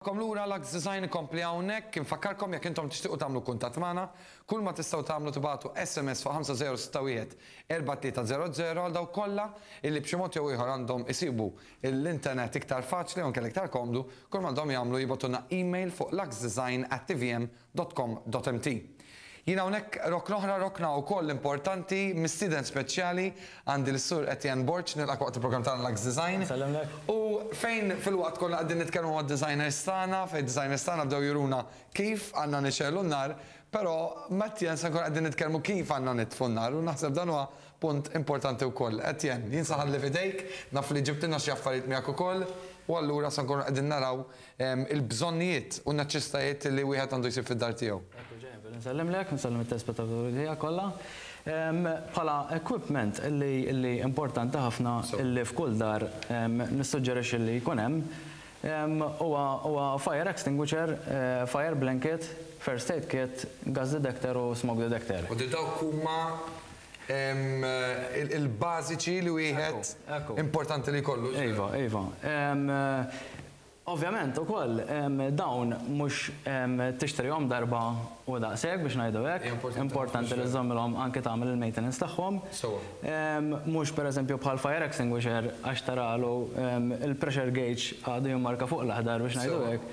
Nilqagħkom lura Lux Design ikompli hawnhekk. Infakkarkom jekk intom tixtiequ tagħmlu kuntatt magħna, kull ma tistgħu tagħmlu tibagħtu SMS fuq 5061 4300 għal dawk kollha illi b'xi mod jew ieħor għandhom isibu l-internet iktar faċli jew inkella iktar komdu, kull m'għandhom jagħmlu jibagħtulna email fuq luxdesign@tvm.com.mt. Jien hawnhekk rokna oħra, rokna wkoll importanti, mistieden speċjali għandi lis-Sur Etienne Borg, nilqgħek waqt il-programm tagħna Lux Design. Nsellimlek. U fejn filwaqt konna qegħdin nitkellmu mad-designers tagħna, fejn id-designers tagħna bdew juruna kif għandna nixegħlu n-nar, però ma' Etienne se nkunu qegħdin nitkellmu kif għandna nitfu n-nar u naħseb dan huwa punt importanti wkoll. Etienne, jien se nħalli f'idejk, naf li ġibtilna xi affarijiet miegħek ukoll u allura se nkunu qegħdin naraw il-bżonnijiet u n-neċessitajiet li wieħed għandu jsib fid-dar tiegħu. Ekku Ġennifer, insellimlek, insellem it-telespettaturi tiegħek kollha. Bħala equipment li importanti ħafna li f'kull dar nissuġġerixxi li jkun hemm huwa fire extinguisher, fire blanket, first aid kit, gas detector u smoke detector. U dawk huma il-bażiċi li wieħed importanti li jkollu. Iva, iva. Ovvjament ukoll dawn mhux tixtrihom darba u daqshekk biex ngħidu hekk. Importanti li żżommilhom anke tagħmel il-maintenance tagħhom. Mhux pereżempju bħal fire extinguisher għax taralu il-pressure gauge għadu jimmarka fuq l-aħdar biex ngħidu hekk,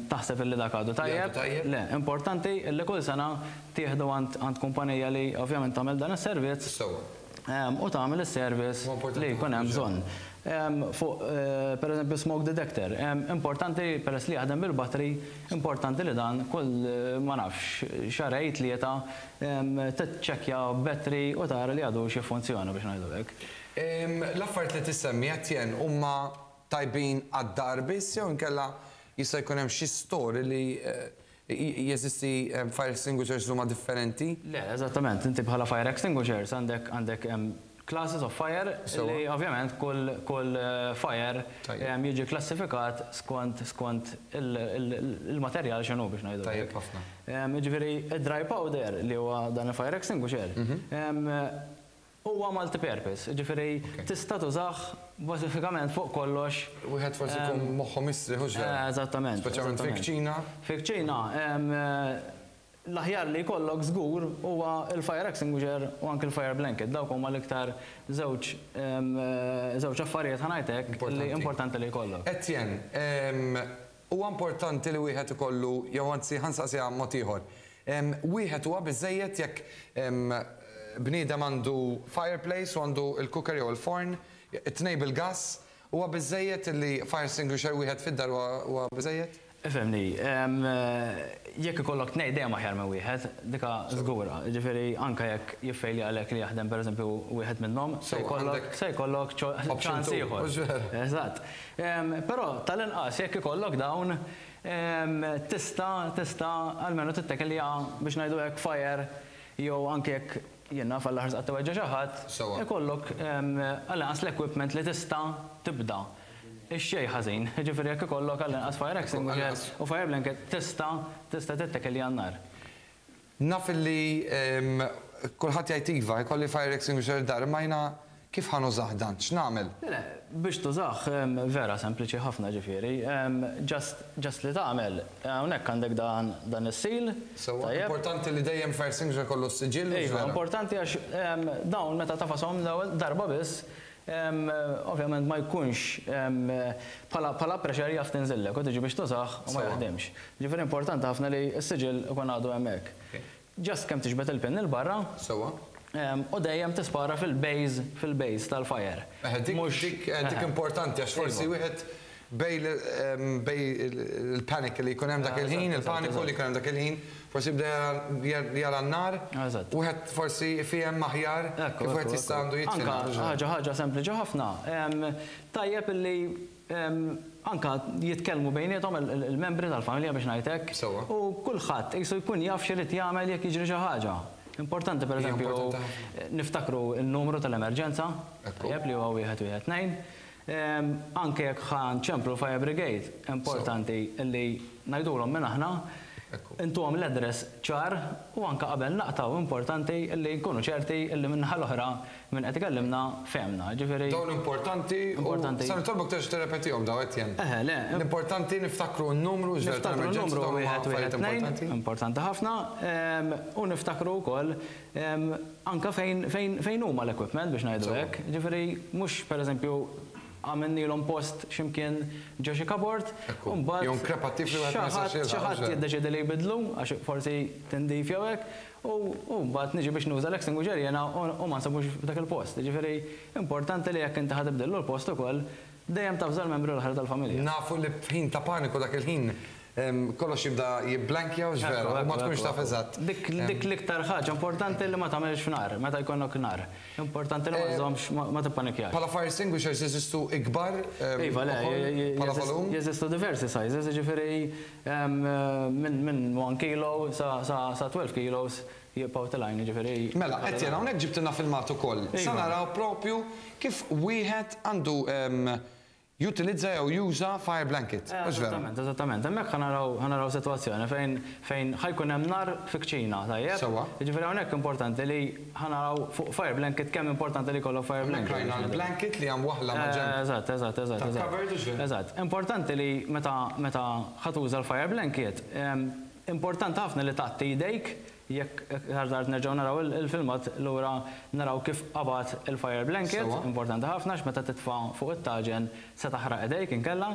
taħseb illi dak għadu tajjeb. Le, importanti illi kull sena tieħdu għand kumpanija li ovvjament tagħmel dan is-servizz u tagħmel is-service li jkun hemm bżonn. Fuq pereżempju smoke detector, importanti peress li jaħdem bil-battery, importanti li dan kull ma nafx xahrejn tlieta tiċċekkja battery u tara li għadux jiffunzjona biex ngħidu hekk. L-affarijiet li tissemmi Etienne huma tajbin għad-dar biss jew inkella jista' jkun hemm xi store li jeżisti fire extinguishers li huma differenti? Le, eżattament, inti bħala fire extinguishers għandek għandek classes of fire li ovvjament kull fire jiġi klassifikat skont il-materjal x'inhu biex ngħidu. Tajjeb ħafna. Jiġifieri id-dry powder li huwa dan il-fire extinguisher huwa multi-purpose, jiġifieri tista' tużah bażikament fuq kollox. Wieħed forsi jkun moħħu mistrieħ hux vera? Eżattament. Speċjalment fil-kċina. Fil-kċina l-aħjar li jkollok żgur huwa l-fire extinguisher u anke l-fire blanket. Dawk huma l-iktar żewġ żewġ affarijiet ħa ngħid hekk li importanti li jkollok. Etienne, huwa importanti li wieħed ikollu jew anzi ħa nsaqsiha mod ieħor. Wieħed huwa biżżejjed jekk bniedem għandu fireplace u għandu l-cooker jew il-forn, it-tnejn bil-gas, huwa biżżejjed li fire extinguisher wieħed fid-dar huwa biżżejjed? Ifhimni, jekk ikollok tnejn dejjem aħjar minn wieħed, dika żgura. Jiġifieri anke jekk jiffejlja għalek li jaħdem pereżempju wieħed minnhom, se jkollok se jkollok ċans ieħor. Eżatt. Però tal-inqas jekk ikollok dawn tista' tista' almenu tittekilja biex ngħidu hekk fire jew anke jekk jien naf Alla ħares qatt iweġġa' xi ħadd, ikollok għall-inqas l-equipment li tista' tibda. Ix-xejn ħażin, jiġifieri jekk ikollok għall-inqas fire extinguisher u fire blanket tista' tista' tittekilja n-nar. Naf illi kulħadd jgħid iva, jkolli fire extinguisher id-dar, imma jiena kif ħa nużah dan? X'nagħmel? Le, biex tużah vera sempliċi ħafna ġifieri. Just just li tagħmel, hawnhekk għandek dan dan is-seal. Sewwa, importanti li dejjem fire extinguisher ikollu s-siġill hux vera? Iva, importanti għax dawn meta tafashom l-ewwel darba biss, ovvjament ma jkunx bħala bħala pressure jaf tinżillek u tiġi biex tużah u ma jaħdimx. Ġifieri importanti ħafna li s-siġill ikun għadu hemmhekk. Just kemm tiġbed il-pin 'il barra. Sewwa. U dejjem tispara fil-base fil-base tal-fire. Eħe dik dik dik importanti għax forsi wieħed bejn bejn il-panic li jkun hemm dak il-ħin, il-paniku li jkun hemm dak il-ħin, forsi jibda jara n-nar, wieħed forsi jifhem aħjar kif wieħed jista' għandu jitfi n-nar. Anka ħaġa ħaġa sempliċi ħafna, tajjeb illi anka jitkellmu bejniethom il-membri tal-familja biex ngħid hekk. U kulħadd qisu jkun jaf x'irid jagħmel jekk jiġri xi ħaġa. Importanti pereżempju niftakru n-numru tal-emerġenza, tajjeb li huwa 112. Anke jekk ħa nċemplu l-fire brigade, importanti li ngħidulhom minn aħna. Intuhom l-address ċar u anke qabel naqtgħu importanti li nkunu ċerti li min-naħa l-oħra min qed ikellimna fehmna. Jiġifieri. Dawn importanti u se nitolbok terġa' tirrepetihom dawn Etienne. Eħe, le. L-importanti niftakru n-numru ġifieri tal-emerġenza dawn huma affarijiet importanti. Importanti ħafna u niftakru wkoll anke fejn huma l-equipment biex ngħidu hekk. Jiġifieri mhux pereżempju għamilnielhom post xi mkien ġo xi cupboard u mbagħad Jew nkrepattiv li wieħed ma jistax xi ħadd jiddeċiedi li jbiddlu għax forsi tindif jew hekk u mbagħad niġi biex nuża l-extinguisher jiena u ma nsibux f'dak il-post. Jiġifieri importanti li jekk inti ħa tibdillu l-post ukoll dejjem tavża l-membri l-oħra tal-familja. Nafu li f'ħin ta' paniku dak il-ħin Kollox jibda jibblankja hux vera? U ma tkunx taf eżatt. Dik l-iktar ħaġa importanti li ma tagħmilx f'nar, meta jkollok nar. Importanti li ma żżommx, ma tippanikjax. Bħala fire extinguishers jeżistu ikbar Iva, le, bħala volum? Jeżistu diversi sizes, jiġifieri minn 1 kilo sa 12 kilos jibqgħu telgħin, jiġifieri. Mela, Etienne, hawnhekk ġibtilna filmat ukoll. Sa naraw propju kif wieħed għandu Jutilizza jew juża fire blanket, hux vera? Eżattament, eżattament. Hemmhekk ħa naraw, ħa naraw sitwazzjoni fejn, fejn ħa jkun hemm nar fi kċina, tajjeb? Sewwa. Jiġifieri hawnhekk importanti li ħa naraw fuq fire blanket kemm importanti li jkollok fire blanket. Hemmhekk rajna l-blanket li hija mwaħħla maġenb. Eżatt, eżatt, eżatt. Tal-cupboard, hux vera? Eżatt. Importanti li meta, meta ħa tuża l-fire blanket, importanti ħafna li tgħatti jdejk Jekk aktar tard nerġgħu naraw il-filmat lura naraw kif qabad il-fire blanket, importanti ħafna għax meta titfa' fuq it-taġen se taħraq idejk inkella.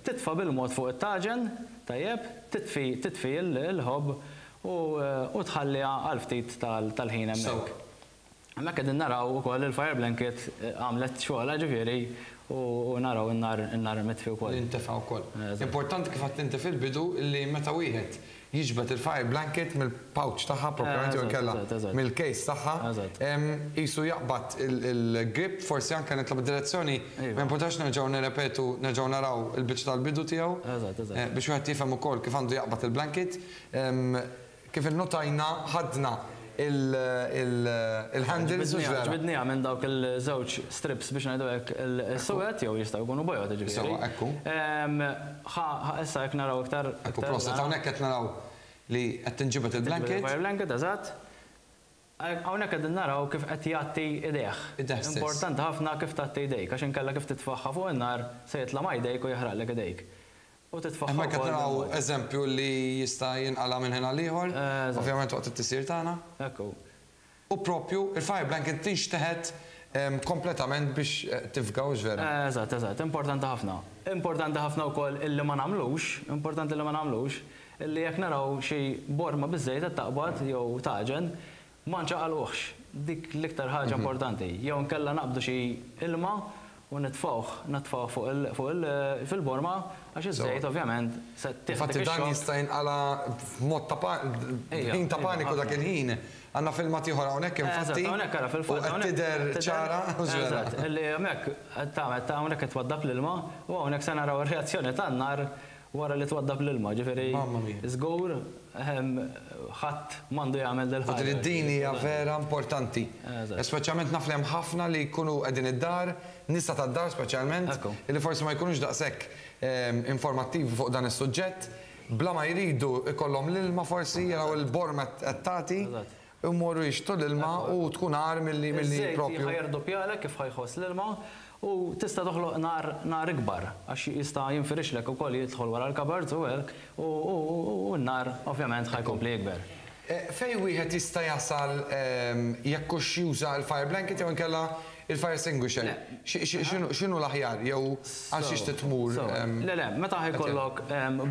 Titfa' bil-mod fuq it-taġen, tajjeb, titfi titfi l-ħobb u tħalliha għal ftit tal-ħin hemmhekk. Hemmhekk qegħdin naraw ukoll il-fire blanket għamlet xogħolha ġifieri u naraw in-nar in-nar mitfi wkoll. Li ntefa' wkoll. Importanti kif għedt inti fil-bidu li meta wieħed jiġbed il-fire blanket mill-pouch tagħha proprjament jew inkella mill-case tagħha, qisu jaqbad il-grip, forsi anke nitlob id-direzzjoni, ma jimpurtax nerġgħu nirrepetu, nerġgħu naraw il-biċċa tal-bidu tiegħu biex wieħed jifhem ukoll kif għandu jaqbad il-blanket. Kif innotajna ħadna il-handles hux vera? Ġbidniha minn dawk il-żewġ strips biex ngħidu hekk is-suwed jew jistgħu jkunu bojod jiġifieri. Sewwa, ekku. Ħa issa jekk naraw iktar. Ekku proset, hawnhekk qed naraw li qed tinġibed il-blanket. Fire blanket, eżatt. Hawnhekk qegħdin naraw kif qed jgħatti idejh. Idejh stess. Importanti ħafna kif tgħatti jdejk għax inkella kif titfagħha fuq in-nar se jitla' ma' jdejk u jaħraqlek idejk. U titfaħħa Hemmhekk qed wkoll naraw bil-mod. eżempju li jista' jinqala' minn ħin għal ieħor, Eżatt. ovvjament waqt it-tisjir tagħna. Hekk hu. U propju il-fire blanket tinxteħet kompletament biex tifga hux vera? Eżatt, eżatt, importanti ħafna. Importanti ħafna wkoll illi ma nagħmlux, importanti li ma nagħmlux, illi jekk naraw xi borma biż-żejt qed taqbad jew tagħġen, Ma nċaqalquhx, dik l-iktar ħaġa importanti. Jew inkella naqbdu xi ilma u nitfgħuh, nitfgħuh fuq il, fuq il, fil-borma għax iż-żejt ovvjament se tieħdek Infatti dan ix-xokk. jista' jinqala' f'mod ta' pa, f'ħin ta' paniku dak il-ħin. Għandna filmat ieħor hawnhekk infatti. Eżatt, hawnhekk ara fil-fatt. U qed tidher ċara, hux vera? Eżatt, illi hemmhekk qed tagħmel, hawnhekk qed twaddab l-ilma u hawnhekk se naraw ir-reazzjoni tan-nar wara li twaddab l-ilma, ġifieri żgur ħadd m'għandu jagħmel dil-ħaġa. Din din hija vera importanti. Speċjalment naf li hemm ħafna li jkunu qegħdin id-dar, nisa tad-dar speċjalment, li forsi ma jkunux daqshekk informattivi fuq dan is-suġġett, bla ma jridu jkollhom l-ilma forsi jaraw il-borma qed tagħti, imorru jixtru l-ilma u tkun agħar milli proprju. Iż-żejt ħa jirdoppjalek kif ħa jħoss l-ilma u tista' toħloq nar nar ikbar għax jista' jinfirixlek ukoll jidħol wara l-cupboards u hekk u n-nar ovvjament ħa jkompli jikber. Fejn wieħed jista' jasal jekk hux juża l-fire blanket jew inkella il-fire extinguisher? X'inhu l-aħjar jew għal xiex trid tmur? Le, le, meta ħa jkollok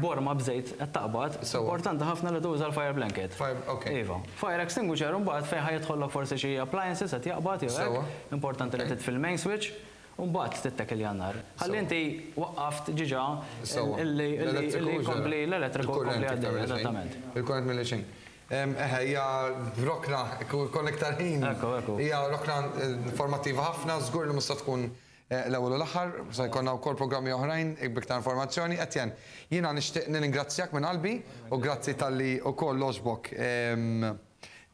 borma b'żejt qed taqbad, importanti ħafna li tuża l-fire blanket. Iva. Fire extinguisher imbagħad fejn ħa jidħollok forsi xi appliances qed jaqbad jew hekk, importanti li titfi l-main switch u mbagħad tittekilja n-nar. Ħalli inti waqqaft ġiġa li jkompli l-elettriku jkompli għaddej. Eżattament. Il-kurrent milli xejn. Eħe, hija rokna, jkollna iktar ħin. Ekku, ekku. Hija rokna informattiva ħafna, żgur li mhux se tkun l-ewwel u l-aħħar, se jkollna wkoll programmi oħrajn b'iktar informazzjoni. Etienne, jiena nixtieq nirringrazzjak minn qalbi u grazzi talli wkoll għoġbok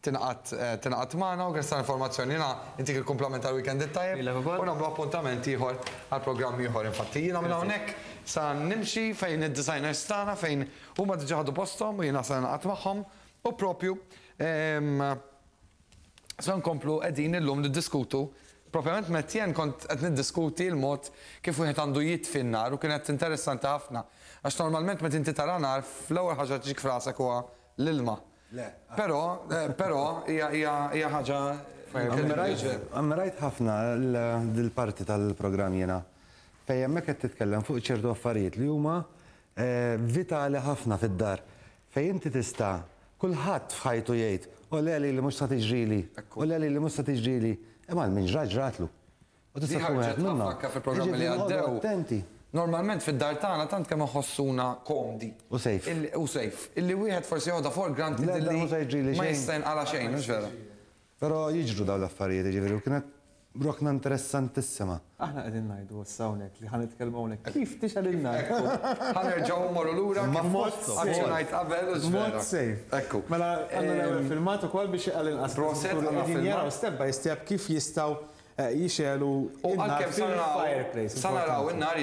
tingħaqad tingħaqad magħna u grazzi tal-informazzjoni. Jiena ntik il-kumplament tal-weekend it-tajjeb Lilek ukoll. u nagħmlu appuntament ieħor għal programm ieħor. Infatti jiena minn hawnhekk. Sa nimxi fejn id-designers tagħna fejn huma diġà ħadu posthom u jiena se ningħaqad magħhom u propju se nkomplu qegħdin illum niddiskutu propjament m'Etienne kont qed niddiskuti l-mod kif wieħed għandu jitfi n-nar u kienet interessanti ħafna għax normalment meta inti tara nar fl-ewwel ħaġa li tiġik f'rasek huwa l-ilma. Però, però hija hija hija ħaġa Ammirajt ħafna dil-parti tal-programm jiena fejn hemmhekk qed titkellem fuq ċertu affarijiet li huma vitali ħafna fid-dar fejn inti tista' kulħadd f'ħajtu jgħid, o le lili mhux sa tiġrili, o le lili mhux sa tiġrili, imma għal min ġrat ġratlu. U tista' tkun wieħed minnhom. Anke fil-programmi li għaddew. Attenti. Normalment fid-dar tagħna tant kemm inħossuna komdi. U safe. U safe. Illi wieħed forsi joħodha for granted illi ma jista' jinqala' xejn, mhux vera? Però jiġru dawn l-affarijiet, jiġifieri, u kienet rokna interessantissima. Aħna qegħdin ngħidu issa hawnhekk li ħa nitkellmu hawnhekk kif tixgħel in-nar. Ekku. Ħa nerġgħu mmorru lura kif B'mod aċċenajt qabel u x'vera. B'mod safe. Ekku. Mela għandna l-ewwel filmat ukoll biex għall-inqas Proset, li għandna qegħdin filmat. jaraw step by step kif jistgħu jixegħlu U n-nar għalkemm sa naraw fil-fireplace. sa naraw in-nar.